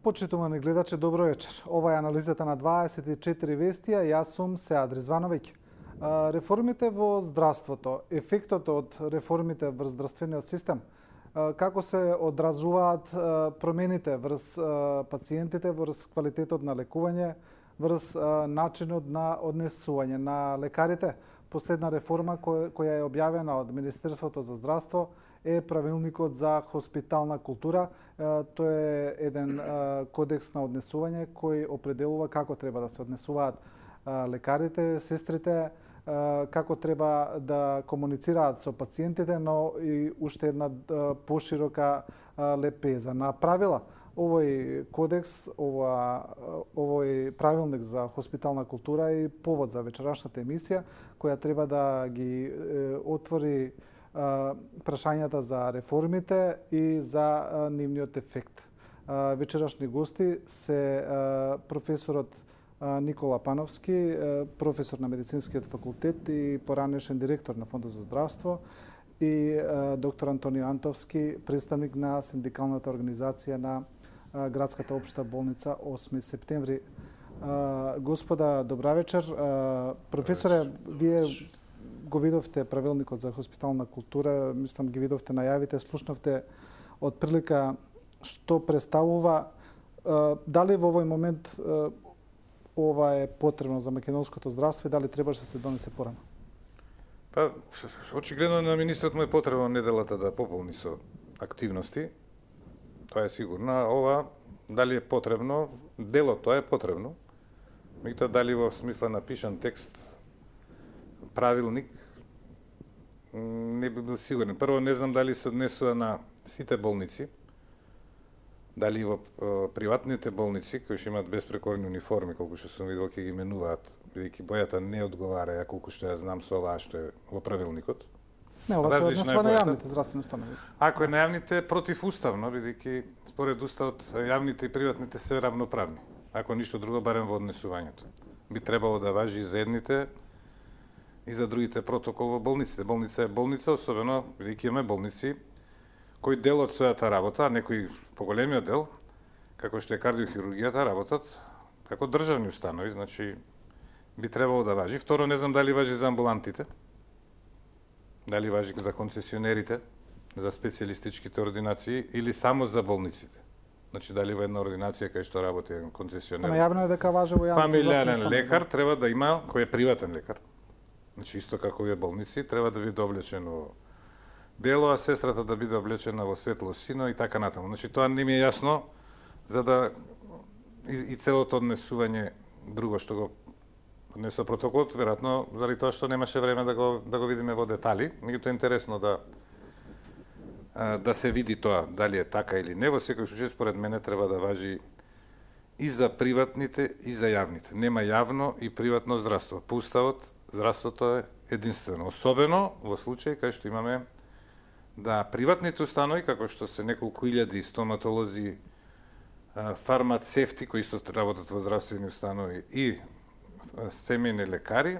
Почитувани гледачи, добро вечер. Ова е анализата на 24 вестија. Јас сум Сеад Ризвановиќ. Реформите во здравството, ефектот од реформите врз здравствениот систем, како се одразуваат промените врз пациентите, врз квалитетот на лекување, врз начинот на однесување на лекарите. Последна реформа која е објавена од Министерството за здравство е правилникот за хоспитална култура. Тој е еден кодекс на однесување кој определува како треба да се однесуваат лекарите, сестрите, како треба да комуницираат со пациентите, но и уште една поширока лепеза на правила. Овој кодекс, овој правилник за хоспитална култура е повод за вечерашната емисија, која треба да ги отвори прашањата за реформите и за нивниот ефект. Вечерашни гости се професорот Никола Пановски, професор на Медицинскиот факултет и поранешен директор на Фондот за здравство, и доктор Антонио Антовски, представник на синдикалната организација на Градската општа болница 8 септември. Господа, добра вечер. Професоре, вие го видовте правилникот за хоспитална култура, мислам ги видовте најавите, слушнавте од прилика што представува. Дали во овој момент ова е потребно за македонското здравство и дали требаше да се донесе порано? Па, очигледно на министрот му е потребно неделата да пополни со активности. Тоа е сигурно. Ова, дали е потребно, делот тоа е потребно. Меѓутоа, дали во смисла напишан текст, правилник, не би бил сигурен. Прво, не знам дали се однесува на сите болници, дали во приватните болници, кои што имаат безпрекорни униформи, колку што сум видел, ќе ги менуваат, бидејќи бојата не одговара, колку што ја знам со оваа што е во правилникот. Не, ова се однесува на јавните здравствени установи. Ако е на јавните, противуставно, бидејќи според уставот јавните и приватните се равноправни. Ако ништо друго, барем во однесувањето. Би требало да важи и за едните и за другите протокол во болниците. Болница е болница, особено бидејќи имаме болници кои дел од својата работа, некои поголемиот дел, како што е кардиохирургијата, работат како државни установи, значи би требало да важи. Второ, не знам дали важи за амбулантите, дали важи за концесионерите, за специјалистичките ординации или само за болниците. Значи дали во една ординација кај што работи концесионер. Најавно е дека важи во јавните фамилиарен лекар треба да има, кој е приватен лекар. Значи исто како и болници, треба да биде облечен во бело, а сестрата да биде облечена во светло сино и така натаму. Значи тоа не ми е јасно, за да и целото однесување друго што го однесува протоколот, веројатно заради тоа што немаше време да го видиме во детали. Меѓутоа е интересно да се види тоа дали е така или не. Во секој случај според мене треба да важи и за приватните и за јавните. Нема јавно и приватно здравство. По уставот здравството е единствено, особено во случај кај што имаме да приватните установи, како што се неколку илјади стоматолози, фармацевти кои исто работат во здравствени установи и семејни лекари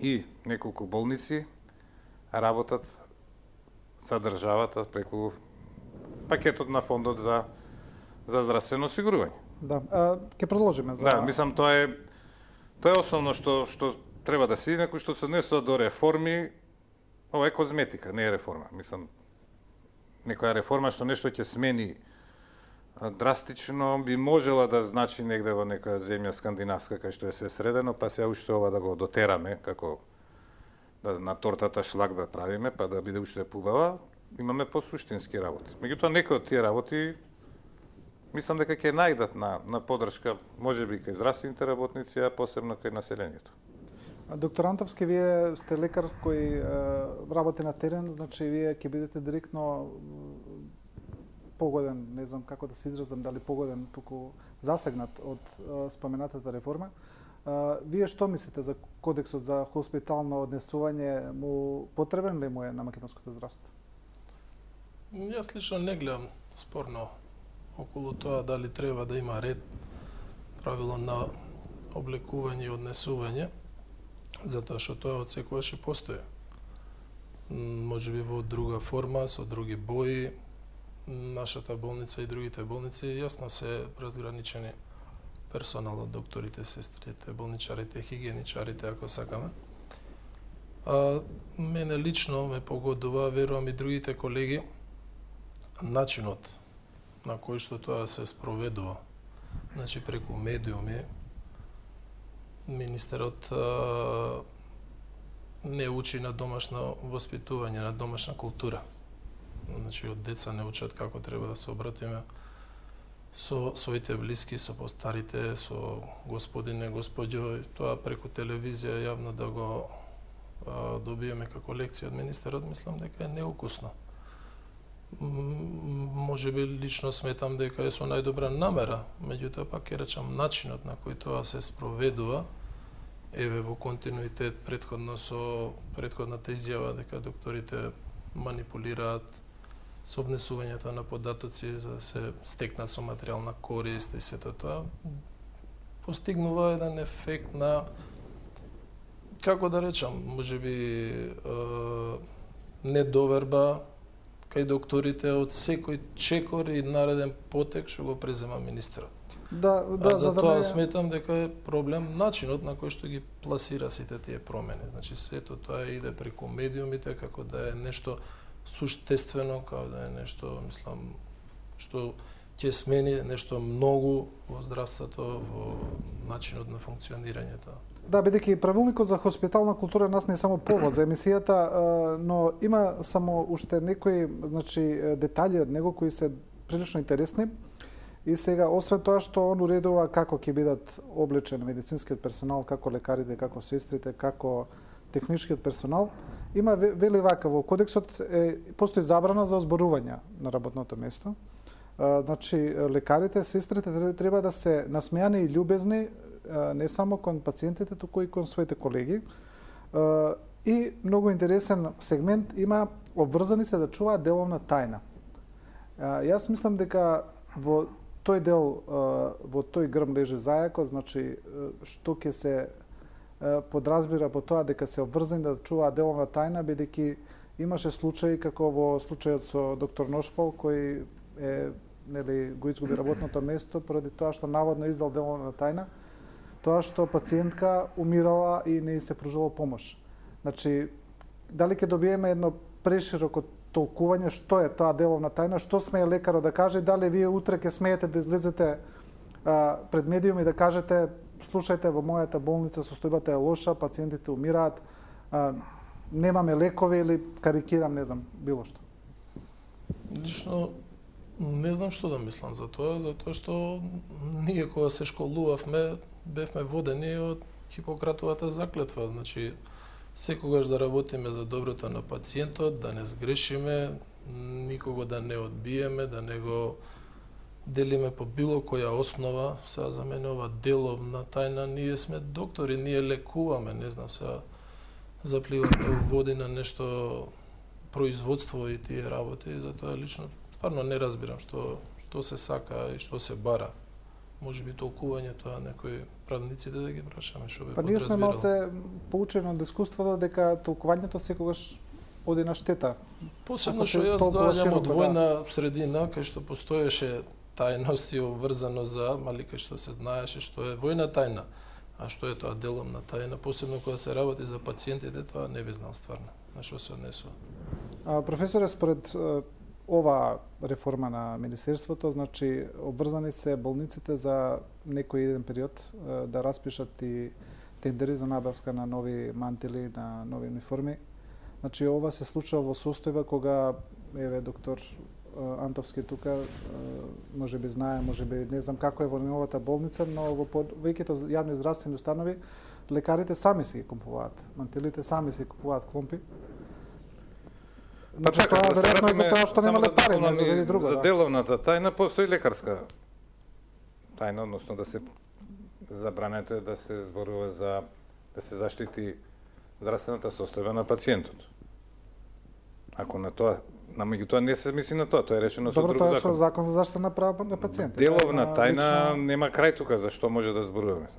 и неколку болници работат за државата преку пакетот на фондот за здравствено осигурување. Да, ќе продолжиме за. Да, мислам тоа е основно што треба да се види, некој што се однесува до реформи. Ова е козметика, не е реформа. Мислам, некоја реформа што нешто ќе смени драстично би можела да значи негде во некоја земја скандинавска кај што е се средено, па се уште ова да го дотераме како да на тортата шлак да правиме, па да биде уште пубава, имаме посуштински работи. Меѓутоа некои од тие работи мислам дека ќе најдат на поддршка, можеби кај здравствените работници, а посебно кај населението. Доктор Антовски, вие сте лекар кој работи на терен, значи вие ќе бидете директно погоден, не знам како да се изразам, дали погоден, туку засегнат од споменатата реформа. Вие што мислите за кодексот за хоспитално однесување? Му потребен ли му е на македонското здравство? Јас лично не гледам спорно околу тоа дали треба да има ред, правило на облекување и однесување, затоа што тоа од секогаш и постои. Можеби во друга форма, со други бои, нашата болница и другите болници јасно се разграничени персоналот, докторите, сестрите, болничарите, хигиеничарите, ако сакаме. Мене лично ме погодува, верувам и другите колеги, начинот на кој што тоа се спроведува. Значи, преку медиуми, министерот не учи на домашно воспитување, на домашна култура. Значи, од деца не учат како треба да се обратиме со своите блиски, со постарите, со господине, господјо, тоа преку телевизија јавно да го добиеме како лекција од министерот, мислам дека е неукусно. Може би лично сметам дека е со најдобра намера, меѓутоа пак ќе речам начинот на кој тоа се спроведува, еве во континуитет претходно со претходната изјава дека докторите манипулираат со внесувањето на податоци за да се стекнат со материјална корист и сето тоа, постигнува еден ефект на, како да речам, можеби недоверба кај докторите од секој чекор и нареден потек што го презема министерот. За тоа сметам дека е проблем начинот на кој што ги пласира сите тие промени. Значи сето тоа иде преку медиумите како да е нешто суштествено, како да е нешто, мислам, што ќе смени нешто многу во здравството, во начинот на функционирањето. Да, бидејќи правилникот за хоспитална култура нас не е само повод за емисијата, но има само уште некои, значи, детали од него кои се прилично интересни. И сега, освен тоа што он уредува како ќе бидат облечен медицинскиот персонал, како лекарите, како сестрите, како техничкиот персонал, има вели вака во кодексот постои забрана за озборување на работното место. Значи, лекарите, сестрите треба да се насмеани и љубезни не само кон пациентите, туку и кон своите колеги. И многу интересен сегмент има обврзани се да чуваат деловна тајна. Јас мислам дека во тој дел, во тој грм лежи зајако, значи што ќе се подразбира по тоа дека се обврзани да чуваат деловна тајна, бидејќи имаше случаи како во случајот со доктор Ношпол кој го изгуби работното место поради тоа што наводно издал деловна тајна, тоа што пациентка умирала и не се пружила помош. Значи, дали ќе добиеме едно прешироко толкување што е тоа деловна тајна, што смее лекарот да каже, дали вие утре ќе смеете да излезете пред медиуми да кажете слушајте, во мојата болница состојбата е лоша, пациентите умираат, немаме лекови или карикирам, не знам, било што. Лично не знам што да мислам за тоа, затоа што ние кога се школувавме, бевме водени од Хипократовата заклетва, значи секогаш да работиме за доброто на пациентот, да не сгрешиме, никого да не одбиеме, да не го делиме по било која основа. Сега за мене ова деловна тајна, ние сме доктори, ние лекуваме, не знам, сега запливаме води на нешто производство и тие работи, затоа лично стварно не разбирам што се сака и што се бара. Може би толкувањето на некои правниците да ги прашаме што би подразбирал. Ние сме малце поучени од искуството дека толкувањето секогаш оди на штета. Посебно што јас доаѓам од војна средина кај што постоеше тајност и обврзано за кај што се знаеше што е војна тајна, а што е тоа деловна тајна, посебно кога се работи за пациентите, тоа не би знал стварно на што се однесува. Професоре, според ова реформа на Министерството, значи обврзани се болниците за некој еден период да распишат и тендери за набавка на нови мантили, на нови униформи. Значи ова се случува во состојба кога еве доктор Антовски тука може би знае, може би не знам како е во новата болница, но во повеќето јавни здравствени установи лекарите сами си ги купуваат мантилите, сами си купуваат кломпи. Па така, тоа да се веројатно вратиме, за тоа што нема лекари, не за друго. За деловната тајна постои лекарска тајна, односно да се забрането е да се зборува за да се заштити здравствената состојба на пациентот. Ако на тоа, меѓутоа не се мисли на тоа, тоа е решено со друг закон. Тоа е со закон за заштита на права на пациентите. Деловна тајна нема крај тука, зашто може да зборуваме.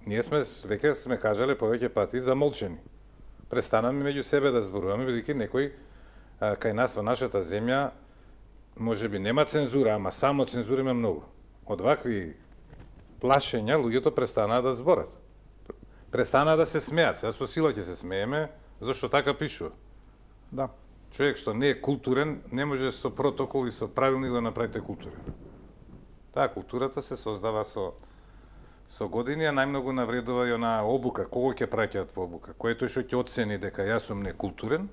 Ние веќе сме кажале повеќе пати замолчени. Престанаме меѓу себе да зборуваме, бидејќи некој кај нас во нашата земја можеби нема цензура, ама само цензура има многу. Од вакви плашења луѓето престанаа да зборат. Престанаа да се смеат. Сега со сила ќе се смееме, зашто така пишува. Да. Човек што не е културен, не може со протокол и со правилник да направите култура. Таа културата се создава со години, а најмногу навредува и она обука. Кого ќе праќаат во обука? Кој е тој што ќе оцени дека јас сум некултурен,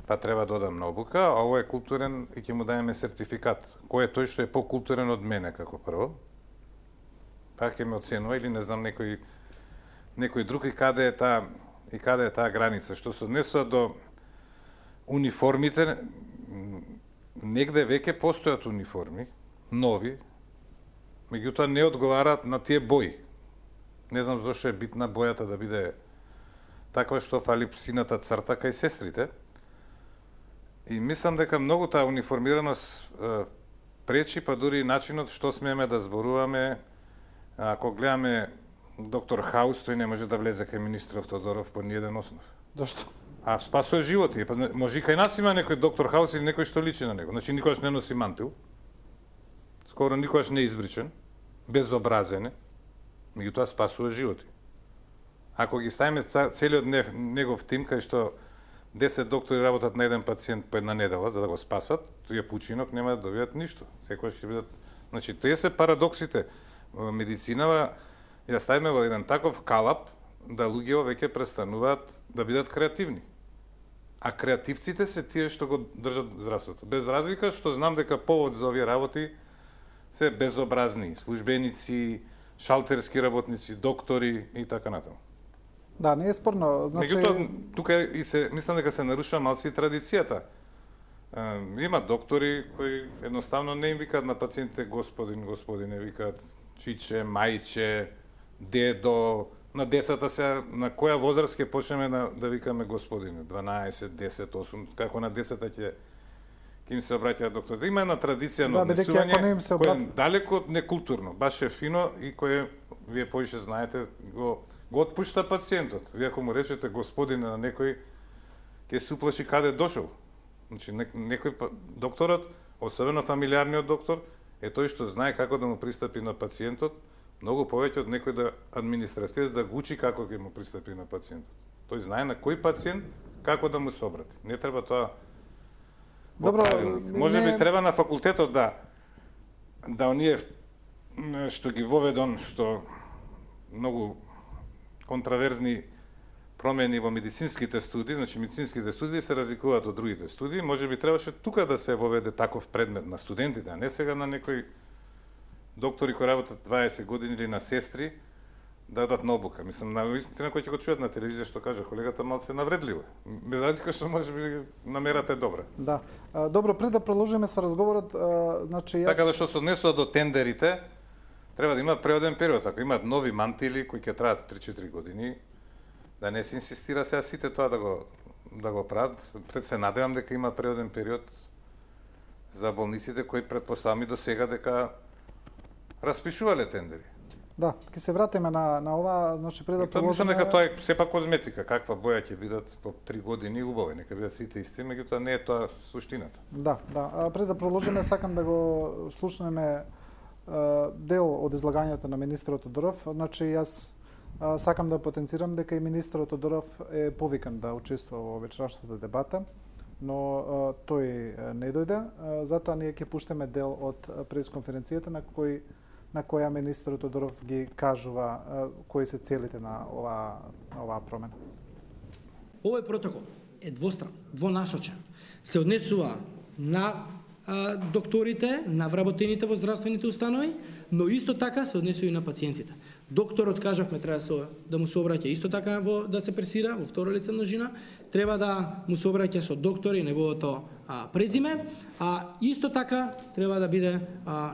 па треба да одам на обука, а овој е културен и ќе му даеме сертификат. Кој е тој што е покултурен од мене како прво? Па ќе ме оценува или не знам некој друг и каде е таа граница. Што се однесува до униформите, негде веќе постојат униформи, нови, меѓутоа не одговараат на тие бои. Не знам зошто е битна бојата да биде таква што фали сината црта кај сестрите. И мислам дека многу таа униформираност пречи, па дури и начинот што смееме да зборуваме. Ако гледаме доктор Хаус, тој не може да влезе кај министров Тодоров по ниеден основ. Зошто? А спасува животи. Па може и кај нас има некој доктор Хаус или некој што личи на него. Значи никогаш не носи мантил. Скоро никогаш не е избричен, безобразен е, меѓутоа спасува животи. Ако ги ставиме целиот негов тим, кај што 10 доктори работат на еден пациент по една недела за да го спасат, тој починок нема да добијат ништо. Секогаш ќе бидат, значи тие се парадоксите. Медицинава ја ставиме во еден таков калап да луѓето веќе престануваат да бидат креативни. А креативците се тие што го држат здравството. Без разлика што знам дека повод за овие работи се безобразни, службеници, шалтерски работници, доктори и така натаму. Да, не е спорно. Значи... Меѓутоа, тука мислам дека се нарушува малци традицијата. Има доктори кои едноставно не им викаат на пациентите господине, викаат чиче, мајче, дедо. На децата се, на која возраст ќе почнеме да викаме господине? 12, 10, 8, како на децата ќе им се обраќаат докторите. Има една традиција на однесување која е далеко од некултурно, баш е фино и кое вие поише знаете го отпушта пациентот. Вие ако му речете господине на некој, ќе се уплаши каде дошол. Значи некој докторот, особено фамилиарниот доктор, е тој што знае како да му пристапи на пациентот, многу повеќе од некој административец да го учи како ќе му пристапи на пациентот. Тој знае на кој пациент како да му се обрати. Не треба тоа. Добро, може би треба на факултетот да оние што ги воведон, што многу контраверзни промени во медицинските студии, значи медицинските студии се разликуваат од другите студии, може би требаше тука да се воведе таков предмет на студентите, а не сега на некои доктори кои работат 20 години или на сестри да дадат на обука. Мислам, на вистина кои ќе го чујат на телевизија што кажа колегата малце навредливо. Без разлика што може би намерата е добра. Да. Добро, пред да продолжиме со разговорот, значи јас... Така да што се однесува до тендерите, треба да има преоден период. Ако имаат нови мантили кои ќе траат 3-4 години, да не се инсистира сега сите тоа да го прават. Пред се надевам дека има преоден период за болниците кои претпоставам и до сега дека распишувале тендери. Да, ќе се вратиме на ова, значи пред да продолжиме. Мислам дека тоа е сепак козметика, каква боја ќе бидат по 3 години убави, нека бидат сите исти, меѓутоа не е тоа суштината. Да. Пред да продолжиме сакам да го слушнеме дел од излагањето на министерот Тодоров. Значи јас сакам да потенцирам дека и министерот Тодоров е повикан да учествува во вечерашната дебата, но тој не дојде, затоа ние ќе пуштиме дел од пресконференцијата на која министерот Тодоров ги кажува кои се целите на оваа промена. Овој протокол е двостран, двонасочен. Се однесува на докторите, на вработените во здравствените установи, но исто така се однесува и на пациентите. Докторот, кажавме, треба да му се обраќа исто така да се пресира во второ лице множина, треба да му се обраќа со доктор и неговото презиме, а исто така треба да биде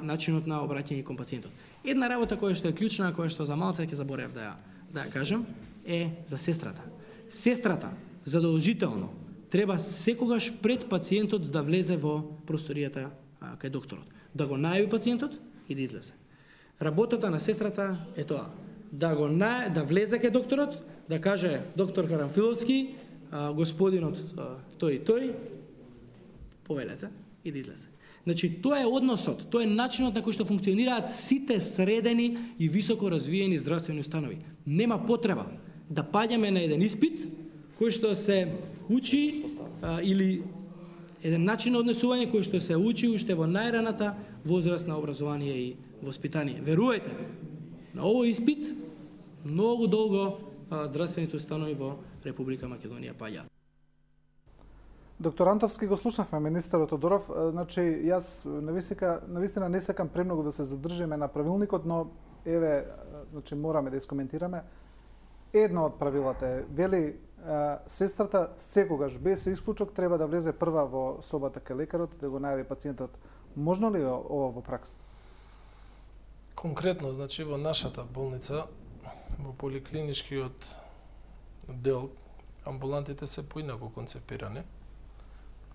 начинот на обраќање кон пациентот. Една работа која што е клучна, која што за малце ќе заборев да ја кажам, е за сестрата. Сестрата задолжително треба секогаш пред пациентот да влезе во просторијата кај докторот, да го најави пациентот и да излезе. Работата на сестрата е тоа, да влезе кај докторот, да каже доктор Карамфиловски, господинот тој и тој, повелете, и да излезе. Значи, тоа е односот, тоа е начинот на кој што функционираат сите средени и високо развиени здравствени установи. Нема потреба да паѓаме на еден испит кој што се учи или еден начин на однесување кој што се учи уште во најраната возраст на образование и воспитание. Верувајте, на овој испит многу долго здравствените установи во Република Македонија паѓаат. Доктор Антовски, го слушнавме министерот Тодоров. Значи, јас навистина не сакам премногу да се задржиме на правилникот, но еве, значи мораме да искоментираме. Едно од правилата е, вели, сестрата секогаш без исклучок треба да влезе прва во собата кај лекарот да го најави пациентот. Можно ли ова во пракса? Конкретно, значи во нашата болница, во поликлиничкиот дел, амбулантите се поинаку концепирани.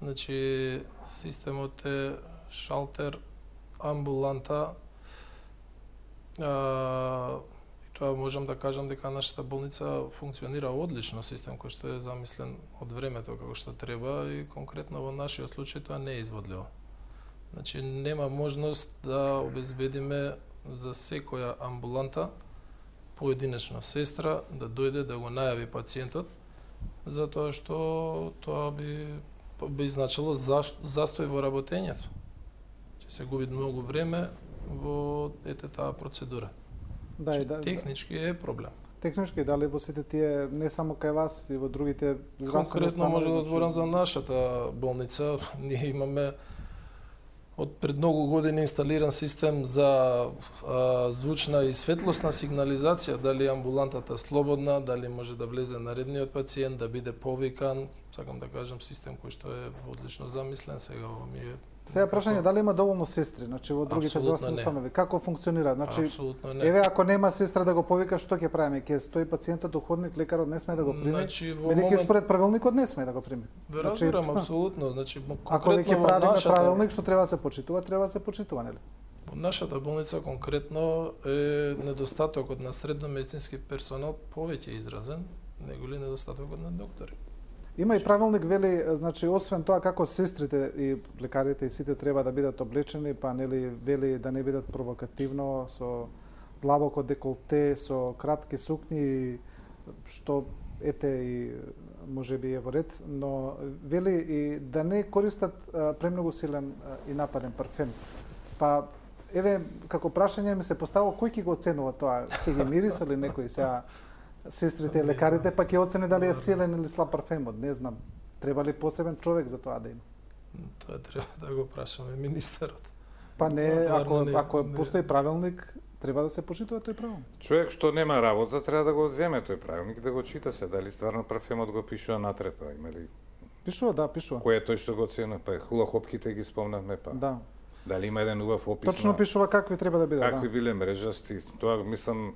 Значи, системот е шалтер, амбуланта, и тоа можам да кажам дека нашата болница функционира одлично, систем кој што е замислен од времето како што треба и конкретно во нашиот случај тоа не е изводливо. Значи, нема можност да обезбедиме за секоја амбуланта поединечно сестра да дојде да го најави пациентот, затоа што тоа би значило застој во работењето. Ќе се губи многу време во таа процедура. Да, технички е проблем. Технички, дали во сите тие, не само кај вас, и во другите здравствени конкретно може да зборам за нашата болница. Ние имаме од пред многу години инсталиран систем за звучна и светлосна сигнализација, дали амбулантата слободна, дали може да влезе наредниот пациент, да биде повикан. Сакам да кажам систем кој што е одлично замислен, сега ова ми е. Сега прашање дали има доволно сестри, значи во другите здравствени установи, како функционира? Значи, апсолутно не. Еве ако нема сестра да го повика, што ќе правиме? Ќе стои пациентот у ходник, лекарот не сме да го прими. Значи, бидејќи според правилникот не сме да го прими. Разбирам, апсолутно. Значи, ако веќе правиме правилник што треба да се почитува, треба да се почитува, нели? Во нашата болница конкретно е недостатокот на средно медицински персонал повеќе изразен, неголи недостатокот на доктори. Има и правилник, вели, значи, освен тоа како сестрите и лекарите и сите треба да бидат облечени, па нели вели да не бидат провокативно, со длабоко деколте, со кратки сукњи, што ете и можеби е во ред, но вели и да не користат премногу силен и нападен парфем. Па еве како прашање ми се поставува кој ќе го оценува тоа, ќе ги мириса ли некој сега сестрите и лекарите, па ќе оцени дали е силен или слаб парфемот, не знам. Треба ли посебен човек за тоа да има? Тоа треба да го прашаме министерот. Па не, ако постои правилник, треба да се почитува тој правилник. Човек што нема работа треба да го земе тој правилник, да го чита се, дали стварно парфемот го пишува натре, па има ли? Пишува, да, пишува. Кој е тој што го оценува, па хула хопките ги спомнавме, па. Да. Дали има еден убав опис? Точно пишува какви треба да бидат, какви биле мрежасти. Тоа мислам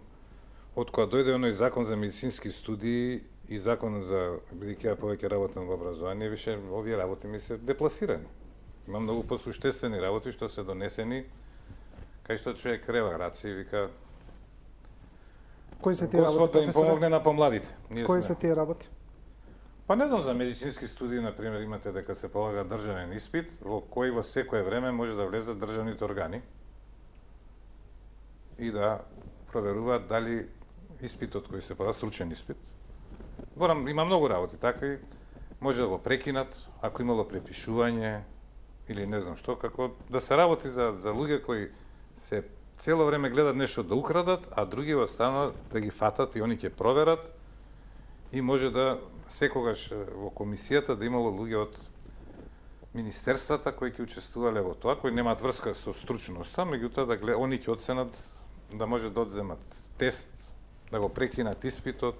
од кога дојде оној закон за медицински студии и закон за, бидејќи ја повеќе работам во образование, више овие работи ми се депласирани. Има многу посуштествени работи што се донесени, кај што човек крева раци и вика кои се тие работи, Господ да им помогне на помладите. Кои се тие работи? Па не знам, за медицински студии, например, имате дека се полага државен испит, во кој во секое време може да влезат државните органи и да проверуваат дали испитот кој се полага, стручен испит. Има многу работи, така и може да го прекинат, ако имало препишување или не знам што, како да се работи за луѓе кои се цело време гледат нешто да украдат, а други останат да ги фатат и они ќе проверат и може да секогаш во комисијата да имало луѓе од министерствата кои ќе учествувале во тоа, кои немаат врска со стручноста, меѓутоа да они ќе оценат да може да одземат тест, да го прекинат испитот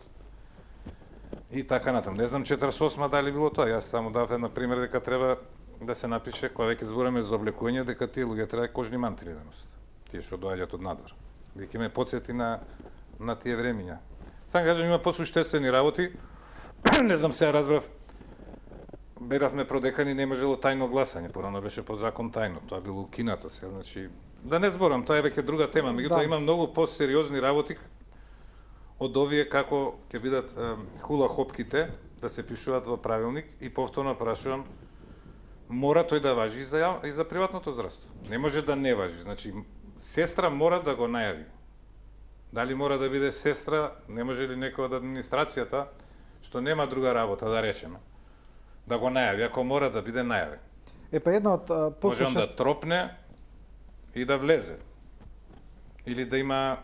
и така натаму. Не знам 48 дали било тоа, јас само дав една пример дека треба да се напише кога веќе збораме за облекување дека тие луѓе треба кожни мантили да носат. Тие што доаѓаат од надвор. Дека ме потсети на тие времиња. Сам кажам има посуштествени работи. Не знам, сега разбрав, беравме продекани, не можело тајно гласање, порано беше по закон тајно, тоа било укинато сега, значи, да не зборам, тоа е веќе друга тема, меѓутоа има многу посериозни работи од овие како ќе бидат хула хопките да се пишуваат во правилник и повторно прашувам мора тој да важи и за приватното здравство. Не може да не важи. Значи, сестра мора да го најави. Дали мора да биде сестра, не може ли некој од администрацијата, што нема друга работа, да речеме, да го најави, ако мора да биде најавен. Па една од Може он да тропне и да влезе. Или да има,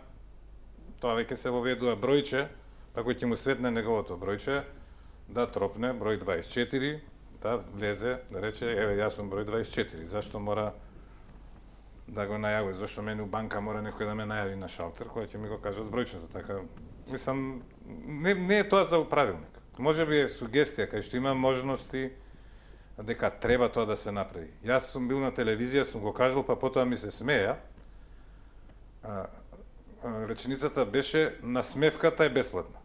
тоа веќе се воведува бројче, па кој ќе му светне неговото бројче, да тропне број 24, да влезе, да рече, еве, јас сум број 24, зашто мора да го најави, зашто мене у банка мора некој да ме најави на шалтер, кој ќе ми го кажат бројчето, така, мислам, не е тоа за управилник. Може би е сугестија, кај што има можности дека треба тоа да се направи. Јас сум бил на телевизија, сум го кажал, па потоа ми се смеја. Реченицата беше, насмевката е бесплатна.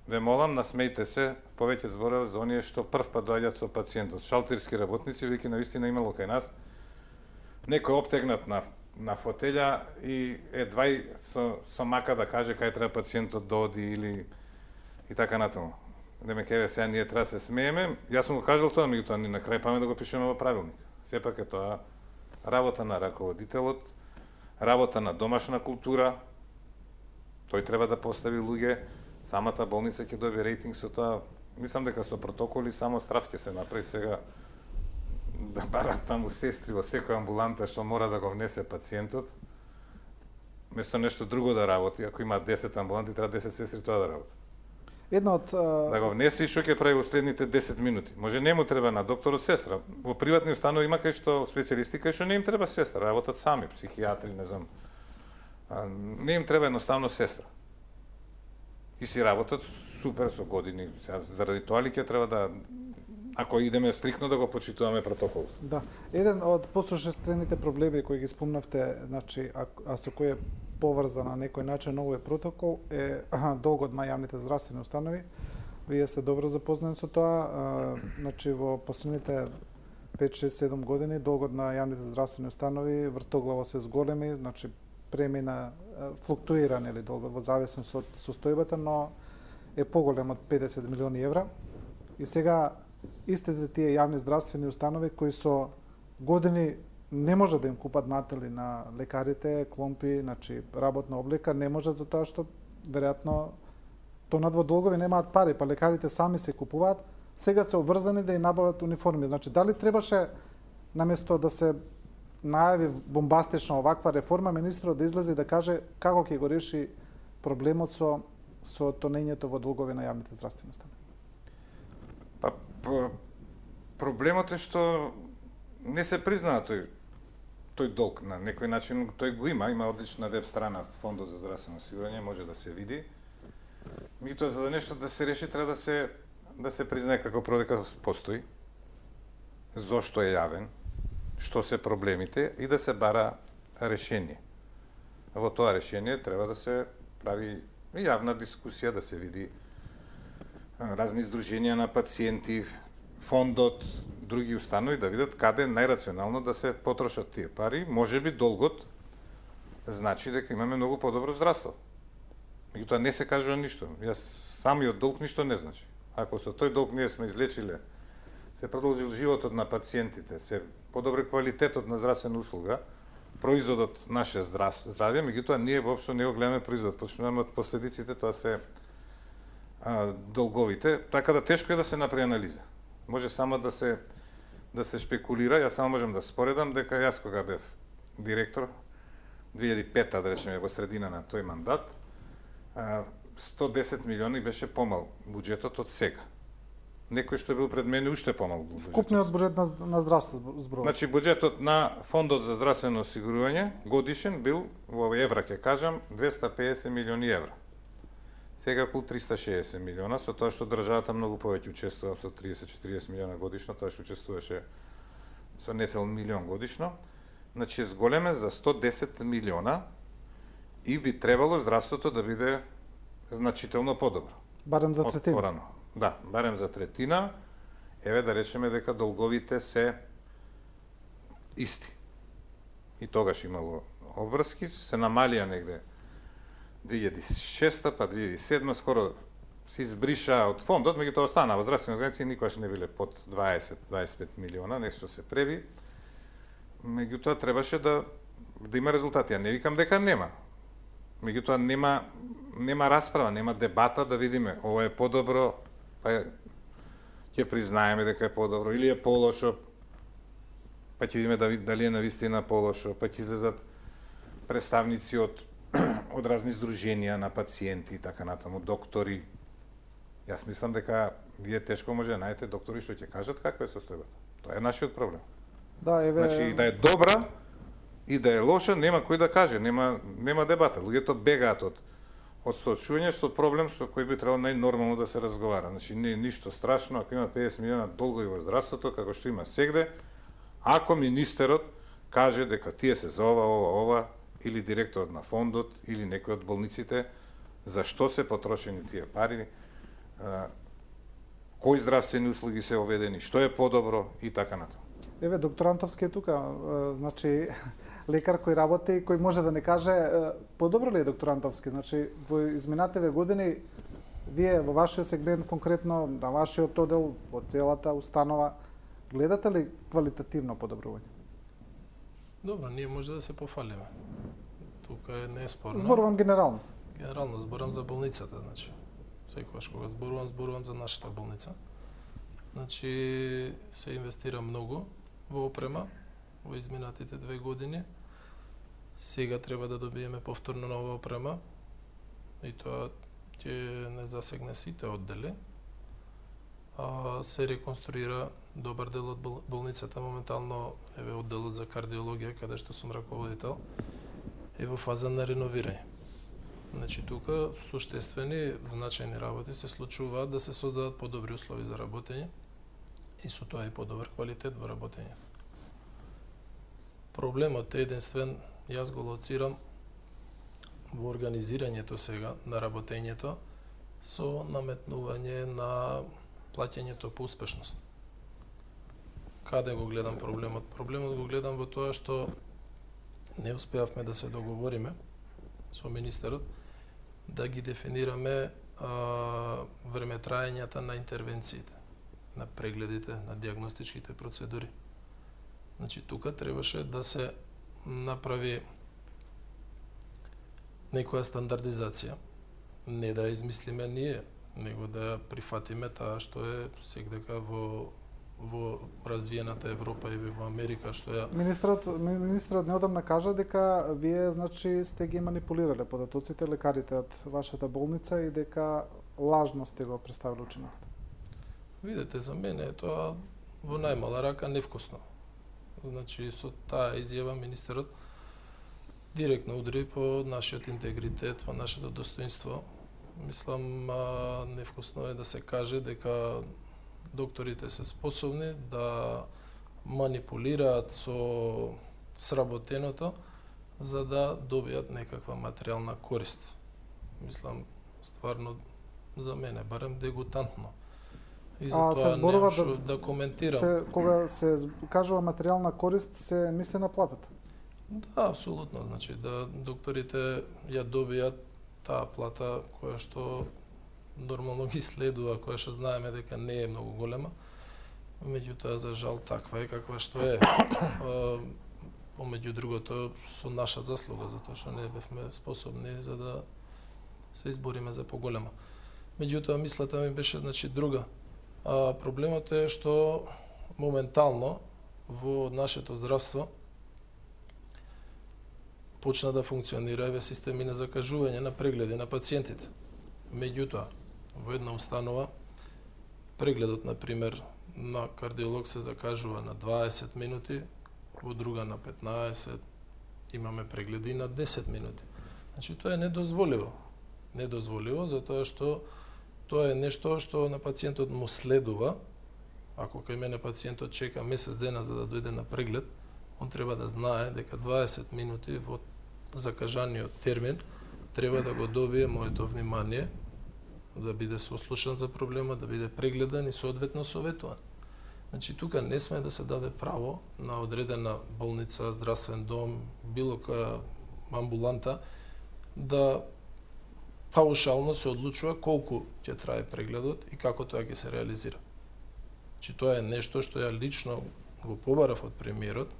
Ве молам, насмејте се, повеќе зборува за оние што прв пат доаѓаат со пациентот. Шалтерски работници, веќе навистина имало кај нас, некој обтегнат на фотелја и едва и со мака да каже кај треба пациентот да оди или и така натаму. Деме кеве сега ние треба се смееме, јас сум го кажал тоа, меѓутоа ни на крај паме да го пишеме во правилник. Сепак е тоа работа на раководителот, работа на домашна култура, тој треба да постави луѓе, самата болница ќе добие рейтинг со тоа. Мислам дека со протоколи само страф ќе се направи сега да барат таму сестри во секоја амбуланта што мора да го внесе пациентот, место нешто друго да работи. Ако има 10 амбуланти, треба 10 сестри тоа да работи. Една од Да го внесе и што ќе прави во следните 10 минути. Може не му треба на докторот сестра. Во приватни установи има кај што специјалисти кај што не им треба сестра, работат сами, психијатри, не знам. Не им треба едноставно сестра. И си работат супер со години. Заради тоа ли ќе треба да, ако идеме стрикно, да го почитуваме протокол? Да, еден од посушествените проблеми кои ги спомнавте, значи, а со кој е поврзан на некој начин овој протокол е долгот на јавните здравствени установи. Вие сте добро запознати со тоа, значи во последните 5-6-7 години долгот на јавните здравствени установи вртоглаво се зголеми, значи премина флуктуира нели долгот во зависност од состојбата, но е поголем од 50 милиони евра. И сега истите тие јавни здравствени установи кои со години не може да им купат матели на лекарите, кломпи, значи работна облека, не можат за тоа што веројатно тонат во долгови, немаат пари, па лекарите сами се купуваат, сега се обврзани да и набават униформи. Значи дали требаше наместо да се најави бомбастична оваква реформа, министрот да излезе и да каже како ќе го реши проблемот со тонењето во долгови на јавните здравствени установи? Па проблемот е што не се признава тој долг на некој начин, тој го има одлична веб страна Фондот за здравствено осигурање, може да се види. Меѓутоа за да нешто да се реши треба да се признае како дека постои, зошто е јавен, што се проблемите и да се бара решение. Во тоа решение треба да се прави јавна дискусија, да се види разни издруженија на пациенти, фондот, други установи да видат каде најрационално да се потрошат тие пари. Можеби долгот значи дека имаме многу подобро здравство. Меѓутоа не се кажува ништо. Самиот долг ништо не значи. Ако со тој долг ние сме излечиле, се продолжил животот на пациентите, се подобри квалитетот на здравствена услуга, производот наше здравје, меѓутоа ние воопшто не го гледаме производот, почнуваме од последиците, тоа се долговите, така да тешко е да се направи анализа. Може само да се шпекулира. Јас само можам да споредам дека јас кога бев директор 2005-та, да речеме, во средина на тој мандат, 110 милиони беше помал буџетот од сега. Некој што бил пред мене уште помал буџетот. Вкупниот буџет на здравство зборува. Значи буџетот на Фондот за здравствено осигурување годишен бил во евра ќе кажам 250 милиони евра. Сега околу 360 милиона, со тоа што државата многу повеќе учествува со 30-40 милиона годишно, тоа што учествуваше со нецел милион годишно. Значи зголеме за 110 милиона и би требало здравството да биде значително подобро. Барем за третина. Да, барем за третина. Еве да речеме дека долговите се исти. И тогаш имало обврски, се намалија негде 2006 па 2007 скоро се избриша од фондот, меѓутоа останаа во здравствени организации никогаш не биле под 20-25 милиона, нешто се преби. Меѓутоа требаше да има резултати. Ја не викам дека нема. Меѓутоа нема расправа, нема дебата да видиме ова е подобро, па ќе признаеме дека е подобро или е полошо, па ќе видиме дали е навистина полошо, па ќе излезат представници од разни здруженија на пациенти и така натаму, доктори. Јас мислам дека вие тешко може да најдете доктори што ќе кажат каква е состојбата. Тоа е нашиот проблем. Да, еве... Значи, да е добра и да е лоша, нема кој да каже, нема дебата. Луѓето бегаат од соочување со проблем со кој би требало најнормално да се разговара. Значи, не е ништо страшно, ако има 50 милиона долгови во здравството, како што има сегде, ако министерот каже дека тие се за ова, или директорот на фондот, или некој од болниците, за што се потрошени тие пари, кои здравствени услуги се оведени, што е подобро и така натаму. Еве, доктор Антовски е тука, значи, лекар кој работи и кој може да не каже подобро ли е доктор Антовски? Значи, во изминативе години, вие во вашиот сегмент, конкретно на вашиот одел, во целата установа, гледате ли квалитативно подобрување? Добро, ние може да се пофалиме. Тука е неспорно. Зборувам генерално. Генерално зборам за болницата, значи. Секогаш кога зборувам за нашата болница. Значи, се инвестира многу во опрема во изминатите 2 години. Сега треба да добиеме повторно нова опрема и тоа ќе не засегне сите оддели. Се реконструира добар дел од болницата, моментално еве одделот за кардиологија, каде што сум раководител, е во фаза на реновирање. Значи, тука суштествени, значајни работи се случуваат да се создадат подобри услови за работење и со тоа и подобар квалитет во работењето. Проблемот е единствен, јас го лоцирам во организирањето сега на работењето со наметнување на плаќањето по успешност. Каде го гледам проблемот? Проблемот го гледам во тоа што не успеавме да се договориме со министерот да ги дефинираме времетраењата на интервенциите, на прегледите, на диагностичките процедури. Значи, тука требаше да се направи некоја стандардизација, не да ја измислиме ние, него да ја прифатиме таа што е сегдека во развиената Европа и во Америка, што ја... Министрот неодамна кажа дека вие, значи, сте ги манипулирале податоците, лекарите од вашата болница и дека лажно сте го представили учинокот. Видете, за мене е тоа во најмала рака невкусно. Значи, со таа изјава министерот директно удри по нашиот интегритет, по нашето достоинство. Мислам, невкусно е да се каже дека докторите се способни да манипулираат со сработеното за да добијат некаква материјална корист. Мислам, стварно, за мене, барем дегутантно. И за тоа немам што да коментирам. Кога се кажува материјална корист, се мисли на платата? Да, апсолутно. Значи, да докторите ја добијат таа плата која што нормално ги следува, која што знаеме дека не е многу голема, меѓутоа за жал таква е каква што е. Помеѓу другото со наша заслуга, затоа што не бевме способни за да се избориме за поголема. Меѓутоа мислата ми беше значи друга. Проблемот е што моментално во нашето здравство почна да функционира еве системи на закажување на прегледи на пациентите. Меѓутоа, во една установа прегледот, на пример, на кардиолог се закажува на 20 минути, во друга на 15, имаме прегледи на 10 минути. Значи, тоа е недозволиво. Недозволиво, затоа што тоа е нешто што на пациентот му следува. Ако кај мене пациентот чека месец дена за да дојде на преглед, он треба да знае дека 20 минути во закажаниот термин треба да го добие моето внимание, да биде сослушан за проблемот, да биде прегледан и соодветно советуван. Значи, тука не сме да се даде право на одредена болница, здравствен дом, било која амбуланта, да паушално се одлучува колку ќе трае прегледот и како тоа ќе се реализира. Значи тоа е нешто што ја лично го побарав од премиерот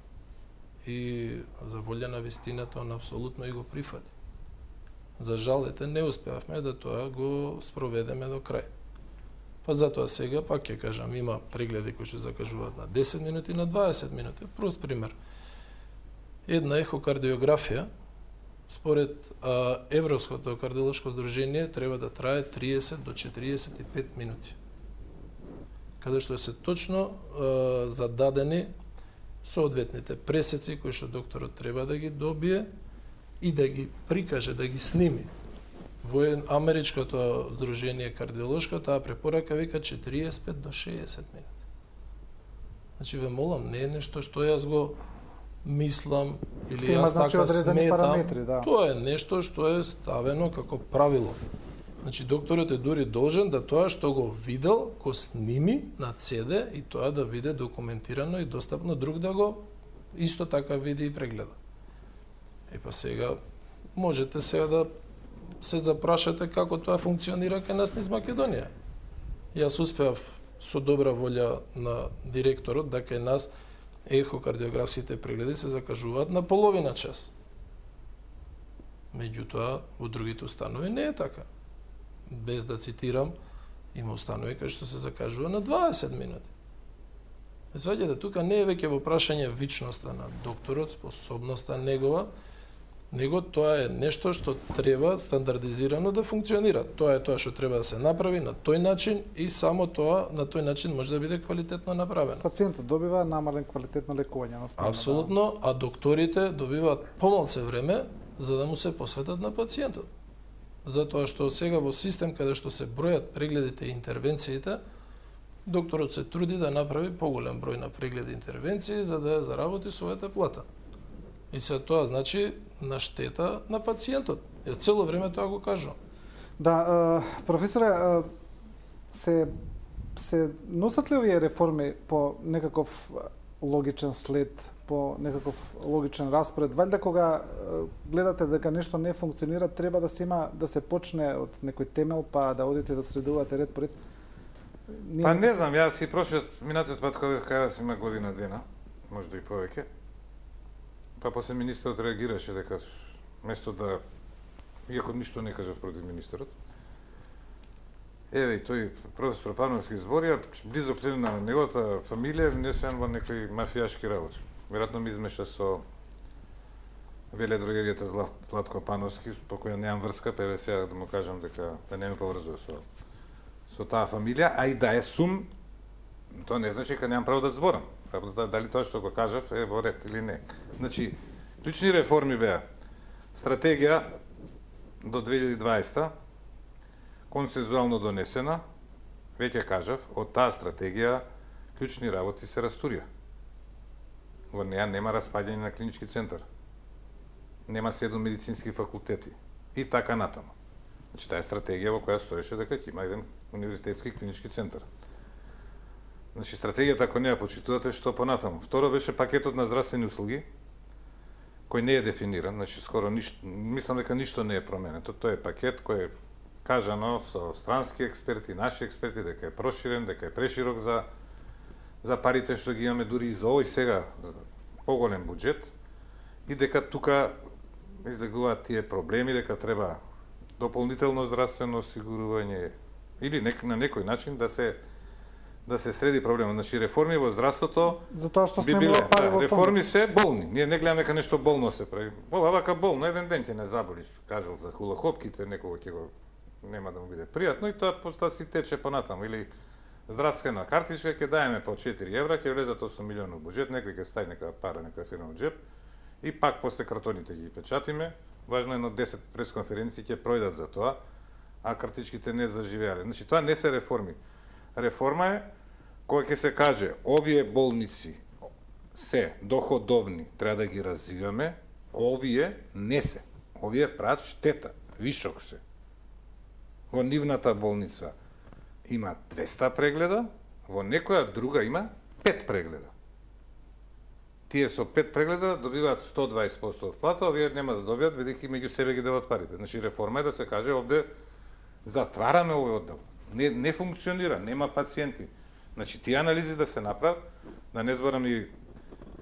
и за волја на вистината он апсолутно и го прифати. За жал, не успеавме да тоа го спроведеме до крај. Па затоа сега, пак ќе кажам, има прегледи кои што закажуваат на 10 минути, на 20 минути. Прост пример. Една ехокардиографија, според Европското кардиолошко здружение, треба да трае 30 до 45 минути. Каде што се точно зададени соодветните пресеци кои што докторот треба да ги добие и да ги прикаже, да ги сними. Во Америчкото здружение кардиолошко таа препорака вика 45 до 60 минути. Значи ве молам, не е нешто што јас го мислам или јас така сметам. Да. Тоа е нешто што е ставено како правило. Значи докторот е дури должен да тоа што го видел, го сними на CD и тоа да биде документирано и достапно друг да го исто така види и прегледа. Па сега можете сега да се запрашате како тоа функционира кај нас низ Македонија. Јас успеав со добра волја на директорот да кај нас ехокардиографските прегледи се закажуваат на половина час. Меѓутоа, во другите установи не е така. Без да цитирам, има установи кај што се закажува на 20 минути. Сваѓате, тука не е веќе во прашање вичноста на докторот, способноста негова, него тоа е нешто што треба стандардизирано да функционира. Тоа е тоа што треба да се направи на тој начин и само тоа на тој начин може да биде квалитетно направено. Пациентот добива намален квалитет на лекување на страна. Апсолутно, а докторите добиваат помалце време за да му се посветат на пациентот. Затоа што сега во систем каде што се бројат прегледите и интервенциите, докторот се труди да направи поголем број на прегледи и интервенции за да ја заработи својата плата. И се тоа значи на штета на пациентот. Ја цело време тоа го кажувам. Да, професоре, се носат ли овие реформи по некаков логичен след, по некаков логичен распоред? Валјда кога гледате дека нешто не функционира, треба да се има да се почне од некој темел, па да одите да средувате ред по ред? Па не знам, јас и прошиот минатиот пат кога кажа има година дена, можда и повеќе. Па после министерот реагираше дека место да, иако ништо не кажав против министерот, еве и тој професор Пановски збори, близок член на неговата фамилија внесен во некои мафијашки работи. Веројатно ми измеша со веледрогеријата Златко Пановски, по која немам врска, па еве сега да му кажам дека да не ме поврзува со таа фамилија, а и да е сум, тоа не значи дека немам право да зборам. Дали тоа што го кажав е во ред или не. Значи, клучни реформи беа стратегија до 2020 консензуално донесена, веќе кажав, од таа стратегија клучни работи се растурија. Во неја нема распаѓање на клинички центар. Нема 7 медицински факултети и така натаму. Значи, таа е стратегија во која стоеше дека ќе има еден универзитетски клинички центар. Значи, стратегијата, ако не ја почитувате, што понатаму. Второ беше пакетот на здравствени услуги, кој не е дефиниран, значи скоро ништо, мислам дека ништо не е променето. Тој е пакет кој е кажано со странски експерти, наши експерти, дека е проширен, дека е преширок за парите што ги имаме дури и за овој сега поголем буџет и дека тука излегуваат тие проблеми, дека треба дополнително здравствено осигурување или на некој начин да се среди проблемот. Значи реформи во здравството затоа што би сме биле, пари во реформи се болни. Ние не гледаме дека нешто болно се прави. Ова вака болно, еден ден ќе не заболи, кажал за хулахопките, некога ќе го нема да му биде пријатно и тоа си тече понатаму или здравствена картичка ќе даеме по 4 евра, ќе влезат 8 милиони буџет, некој ќе стави некоја пара, некоја фирма во џеп и пак после картоните ги печатиме. Важно е на 10 пресконференции ќе пројдат за тоа, а картичките не заживеале. Значи тоа не се реформи. Реформа е која ќе се каже овие болници се доходовни, треба да ги развиваме, овие не се. Овие прават штета, вишок се. Во нивната болница има 200 прегледа, во некоја друга има 5 прегледа. тие со 5 прегледа добиваат 120% од плата, овие нема да добијат бидејќи меѓу себе ги делат парите. Значи реформа е да се каже овде затвараме овој оддел. Не функционира, нема пациенти. Значи тие анализи да се направат, да не зборам и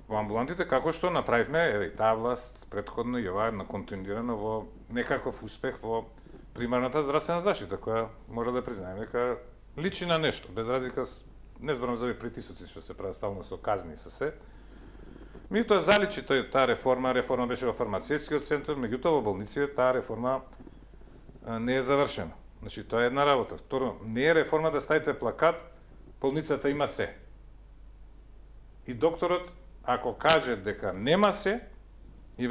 во амбулантите, како што направивме, еве и таа власт претходно и ова на континуирано во некаков успех во примарната здравствена заштита, која може да признаеме дека личи на нешто, без разлика, не зборам за овие притисоци што се прават стално со казни со се. Меѓутоа заличи таа реформа беше во фармацевскиот центар, меѓутоа во болниците таа реформа не е завршена. Значи тоа е една работа. Второ, не е реформа да ставите плакат, болницата има се. И докторот, ако каже дека нема се, и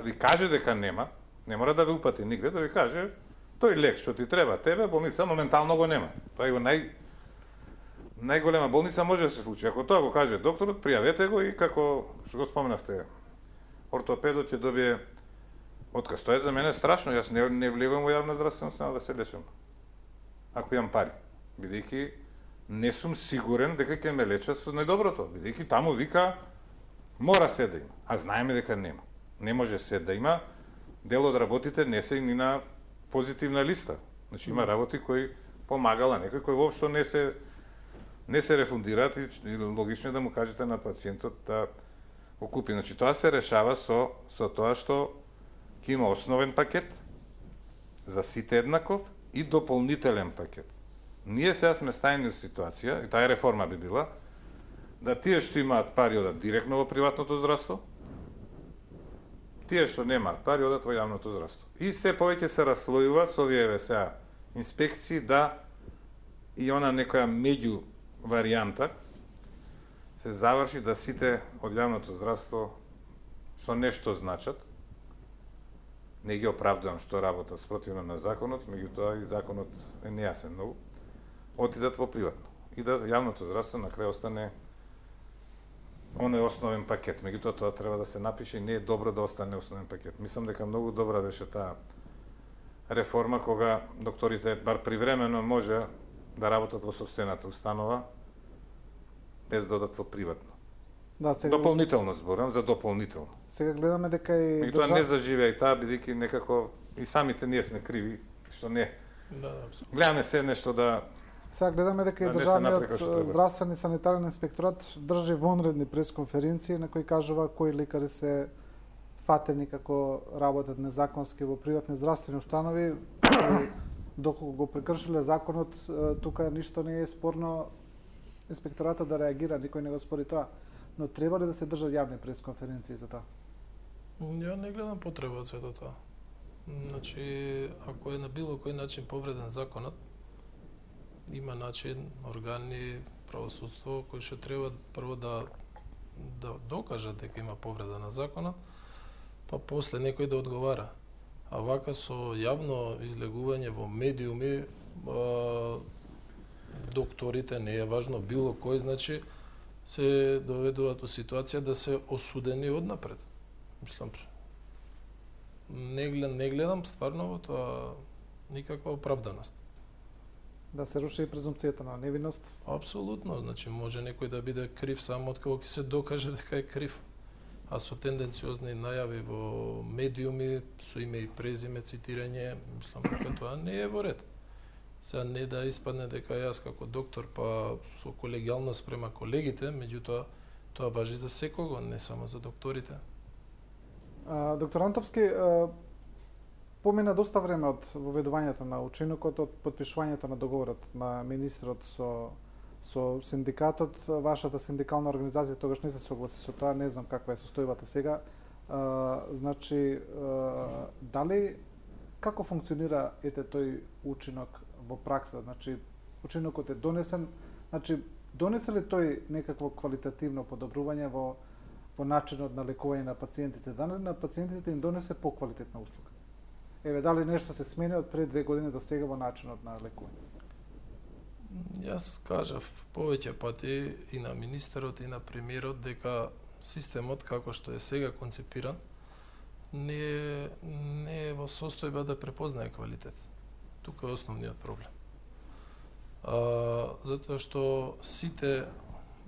ви каже дека нема, не мора да ве упати нигде, да ви каже тој лек што ти треба тебе, болница моментално го нема. Тоа е го најголема болница може да се случи. Ако тоа го каже докторот, пријавете го и како што го споменавте, ортопедот ќе добие отказ. Тоа е за мене страшно, јас не влегувам во јавна здравствена установа да се лечам. Ако имам пари, бидејќи не сум сигурен дека ќе ме лечат со најдоброто, бидејќи таму вика мора се да има, а знаеме дека нема. Не може се да има. Дел од работите не се ни на позитивна листа. Значи има работи кои помагала некој кои воопшто не се рефундираат и логично е да му кажете на пациентот да го купи. Значи тоа се решава со тоа што ќе има основен пакет за сите еднаков и дополнителен пакет. Ние сега сме стајани во ситуација, и таа реформа би била, да тие што имаат пари одат директно во приватното здравство, тие што немаат пари одат во јавното здравство. И се повеќе се расслојува со овие сега инспекции да и она некоја меѓу варијанта се заврши да сите од јавното здравство што нешто значат, не ги оправдувам што работат спротивно на законот, меѓутоа и законот е нејасен многу, отидат во приватно. И да јавното здравство на крај остане оној основен пакет. Меѓутоа тоа треба да се напише и не е добро да остане основен пакет. Мислам дека многу добра беше таа реформа кога докторите бар привремено може да работат во сопствената установа без да одат во приватно. Да, сега Дополнително зборам за дополнително. сега гледаме дека и И тоа не заживеа и таа бидејќи некако и самите ние сме криви што не. Да, апсолутно. Гледаме се нешто да Сега гледаме дека и Да не се направи како што државниот треба. здравствен и санитарен инспекторат држи вонредни пресконференции на кои кажува кои лекари се фатени како работат незаконски во приватни здравствени установи. Доколку го прекршиле законот, тука ништо не е спорно инспекторатот да реагира, никој не го спори тоа. Но треба ли да се држат јавни пресконференции за тоа? Ја не гледам потреба од сето тоа. Значи, ако е на било кој начин повреден законот, има начин, органи, правосудство, кои што треба прво да докажат дека има повреда на законот, па после некој да одговара. А вака со јавно излегување во медиуми, докторите, не е важно било кој, значи, се доведуваат во ситуација да се осудени однапред. Мислам, не гледам стварно во тоа никаква оправданост. Да се руши и презумпцијата на невиност? Апсолутно, значи може некој да биде крив само откако ќе се докаже дека е крив. А со тенденциозни најави во медиуми, со име и презиме, цитирање, мислам дека тоа не е во ред. Сега не да испадне дека јас како доктор, па со колегијалност према колегите, меѓутоа тоа важи за секого, не само за докторите. Доктор Антовски, помина доста време од воведувањето на учинокот, од потпишувањето на договорот на министрот со синдикатот. Вашата синдикална организација тогаш не се согласи со тоа, не знам каква е состојбата сега. Значи, дали како функционира тој учинок во пракса? Значи, учинокот е донесен, значи донесе ли тој некакво квалитативно подобрување во начинот на лекување на пациентите? Дали на пациентите им донесе поквалитетна услуга? Еве, дали нешто се смени од пред 2 години до сега во начинот на лекување? Јас кажав повеќе пати и на министерот и на премиерот дека системот како што е сега концепиран не е во состојба да препознае квалитет. Тука е основниот проблем. Затоа што сите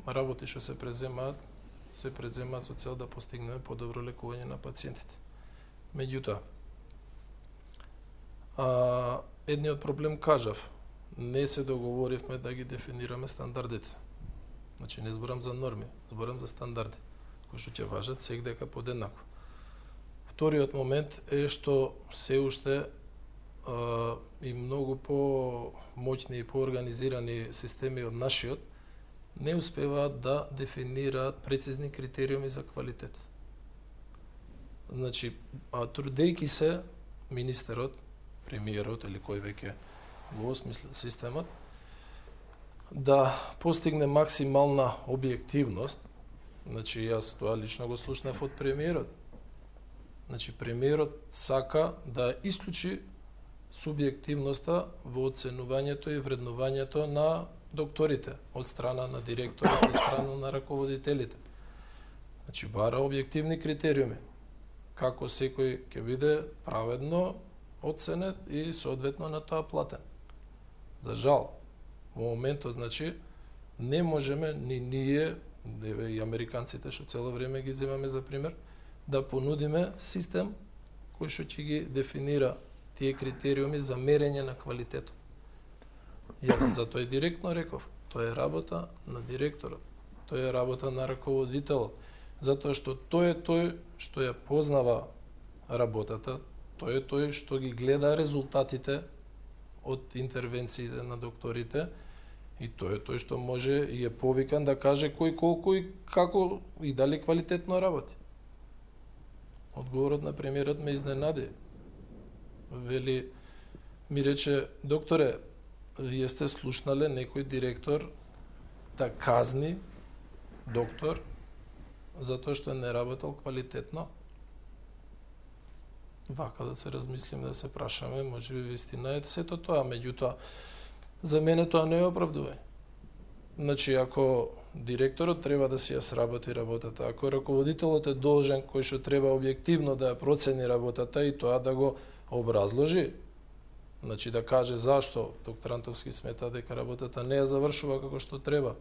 работи што се преземаат се преземаат со цел да постигнеме подобро лекување на пациентите. Меѓутоа, едниот проблем кажав, не се договоривме да ги дефинираме стандардите. Значи не зборам за норми, зборам за стандарди, кои што ќе важат секдека подеднакво. Вториот момент е што се уште и многу по-моќни и поорганизирани системи од нашиот не успеваат да дефинираат прецизни критериуми за квалитет. Значи, трудејќи се министерот, премиерот или кој веќе го осмисли системот, да постигне максимална објективност, значи јас тоа лично го слушнав од премиерот. Значи, премиерот сака да исклучи субјективноста во оценувањето и вреднувањето на докторите, од страна на директорот, од страна на раководителите. Значи, бара објективни критериуми, како секој ќе биде праведно оценет и соодветно на тоа платен. За жал, во моментот, значи, не можеме ни ние, и американците што цело време ги земаме за пример, да понудиме систем кој што ќе ги дефинира тие критериуми за мерење на квалитетот. Јас затоа и директно реков, тоа е работа на директорот, тоа е работа на раководителот, затоа што тој е тој што ја познава работата, тој е тој што ги гледа резултатите од интервенциите на докторите и тој е тој што може и е повикан да каже кој колку и како и дали квалитетно работи. Одговорот на премиерот ме изненади. Вели, ми рече, докторе, вие сте слушнале некој директор да казни доктор затоа што не работел квалитетно? Вака да се размислиме, да се прашаме, може би вистина е сето тоа, меѓутоа, за мене тоа не е оправдување. Значи, ако директорот треба да си ја сработи работата, ако раководителот е должен кој што треба објективно да ја процени работата и тоа да го образложи, значи да каже зашто доктор Антовски смета дека работата не ја завршува како што треба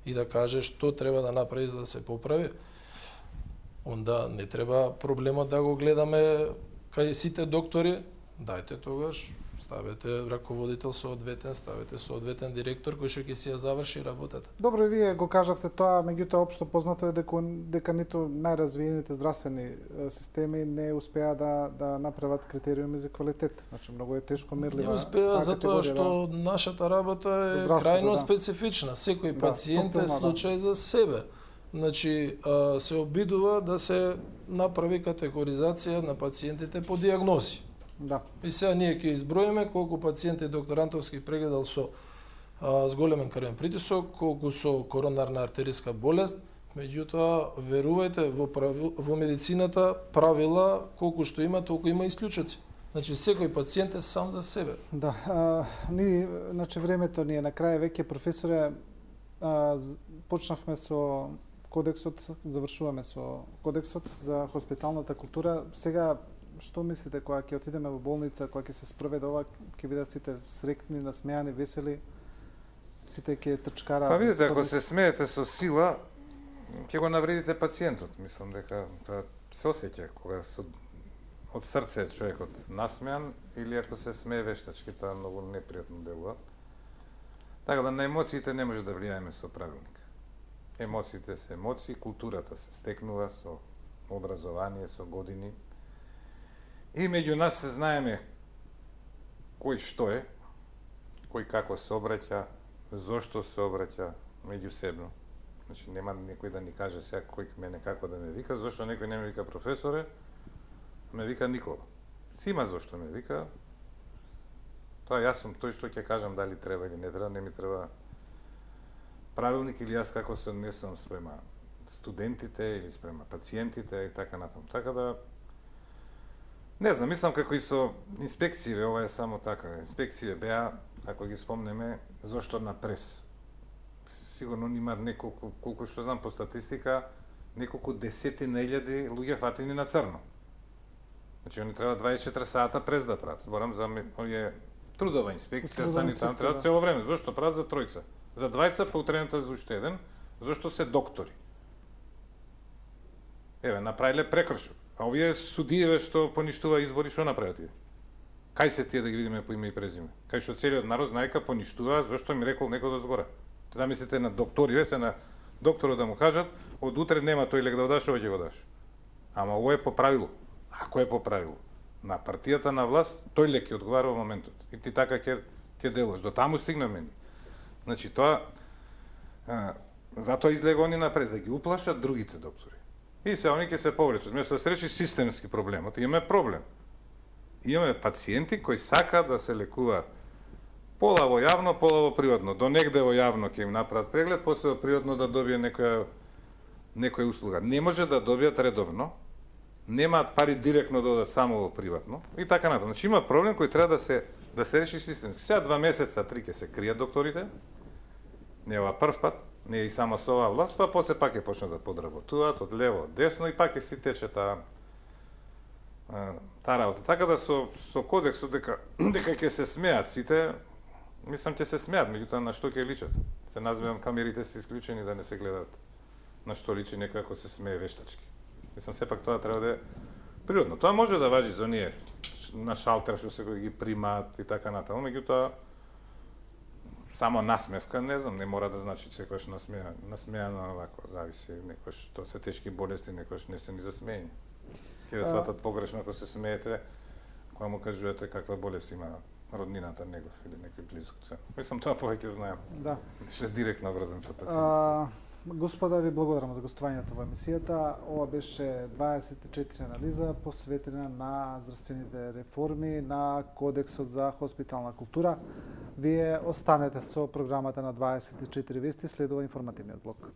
и да каже што треба да направи за да се поправи, онда не треба проблемот да го гледаме кај сите доктори, дајте тогаш, ставете раководител соодветен, ставете соодветен директор кој што ќе си ја заврши работата. Добро, и вие го кажавте тоа, меѓутоа општо познато е дека ниту најразвиените здравствени системи не успеа да направат критериуми за квалитет. Значи многу е тешко мерлива. Не успеа затоа што нашата работа е крајно специфична. Секој пациент е случај за себе. Значи, се обидува да се направи категоризација на пациентите по дијагнози. Да. И сега ние ќе изброиме колку пациенти доктор Антовски прегледал со зголемен крвен притисок, колку со коронарна артериска болест, меѓутоа верувајте во медицината правила колку што има, толку има исклучоци. Значи секој пациент е сам за себе. Да, значи времето ни е на крај, веќе професоре, почнавме со кодексот, завршуваме со кодексот за хоспиталната култура. Сега што мислите кога ќе отидеме во болница, кога ќе се спроведе ова, ќе бидат сите среќни, насмејани, весели, сите ќе трчкара? Па видите, ако се смеете со сила, ќе го навредите пациентот. Мислам дека тоа се осеќа кога од срце човекот насмеан или ако се смее вештачки, тоа многу непријатно делува. Така да на емоциите не може да влијаеме со правилник. Емоциите се емоции, културата се стекнува со образование, со години. И меѓу нас се знаеме кој што е, кој како се обраќа, зошто се обраќа меѓусебно. Значи нема некој да ни каже сега кој мене како да ме вика, зошто некој не ме вика професоре, ме вика Никола. Си има зошто ме вика. Тоа јас сум тој што ќе кажам дали треба или не треба, не ми треба правилник или јас како се однесувам спрема студентите или спрема пациентите и така натаму. Така да не знам, мислам како и со инспекциите, ова е само така. Инспекциите беа, ако ги спомнеме, зошто на прес. Сигурно има неколку, колку што знам по статистика, неколку десетина илјади луѓе фатени на црно. Значи, они треба 24 сата през да прават. Зборам за овие трудова инспекција, санитарна, треба цело време. Зошто прават за тројца? За двајца, па утрената за уште еден, зошто се доктори. Еве, направиле прекршок. А овие судиеве што поништува избори, што направат тие? Кај се тие да ги видиме по име и презиме? Кај што целиот народ знае дека поништува, зашто ми рекол некој од згора. Замислите на докториве, се на докторот да му кажат, од утре нема тој лек да го даш, овој ќе го даш. Ама ово е по правило. Ако е по правило, на партијата на власт, тој лек ќе одговара во моментот. И ти така ќе делаш. До таму стигнаме ни. Значи тоа затоа излега они напред да ги уплашат другите доктори. И се они ќе се повлечат. Место да се реши системски проблемот, имаме проблем. Имаме пациенти кои сакаат да се лекуваат пола во јавно, пола во приватно. До негде во јавно ќе им направат преглед, после во приватно да добие некоја услуга. Не може да добијат редовно, немаат пари директно да одат само во приватно и така натаму. Значи има проблем кој треба да се реши системски. Сега 2 месеца, 3 ќе се кријат докторите. Не ова прв пат, не и само со оваа власт, па после пак ќе почнат да подработуваат од лево, од десно и пак ќе си тече таа работа. Така да со кодексот дека ќе се смеат сите, мислам ќе се смеат, меѓутоа на што ќе личат. Се називам камерите се исклучени да не се гледаат на што личи некој ако се смее вештачки. Мислам сепак тоа треба да е природно. Тоа може да важи за оние на шалтер што се ги примаат и така натаму, меѓутоа само насмевка, не знам, не мора да значи секојаш насмеано овако, зависи, некојаш тоа се тешки болести, некојаш не се ни за смеење. Ќе ве сватат погрешно ако се смеете, кога му кажувате каква болест има роднината негов или некој близок. Мислам тоа повеќе знаем. Да. Што е директно врзан со пациентот. Господа, ви благодарам за гостувањето во емисијата. Ова беше 24 анализа посветена на здравствените реформи на Кодексот за хоспитална култура. Вие останете со програмата на 24 вести, следува информативниот блок.